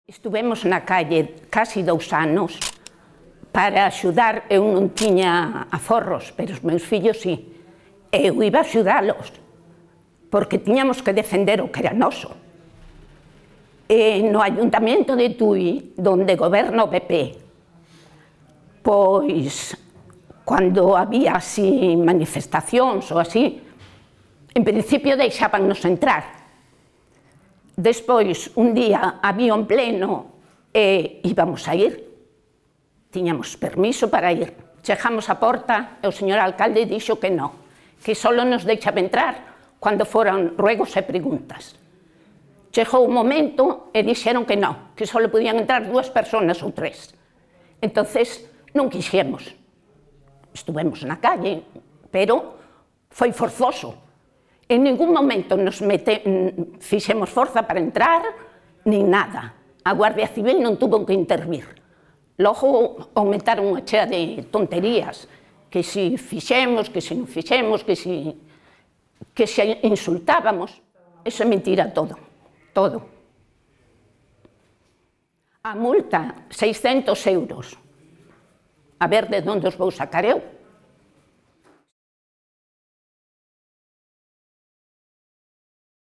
Estivemos na calle casi 2 anos para axudar. Eu non tiña aforros, pero os meus fillos sí. Eu iba a axudalos, porque tiñamos que defender o que era noso. E no Ayuntamiento de Tui, donde goberna o PP, pois, cando había así manifestacións ou así, en principio deixábannos entrar. Despois, un día, había un pleno e íbamos a ir. Tiñamos permiso para ir. Chegamos á porta e o señor alcalde dixo que non, que só nos deixaba entrar cando foran ruegos e preguntas. Chegou un momento e dixeron que non, que só podían entrar 2 personas ou 3. Entonces, non quixemos. Estivemos na calle, pero foi forzoso. En ningún momento nos fixemos forza para entrar, nin nada. A Guardia Civil non tuvo que intervir. Logo aumentaron unha chea de tonterías, que si fixemos, que si non fixemos, que si insultábamos. Eso é mentira todo, todo. A multa, 600 euros. A ver de onde os vou sacar eu.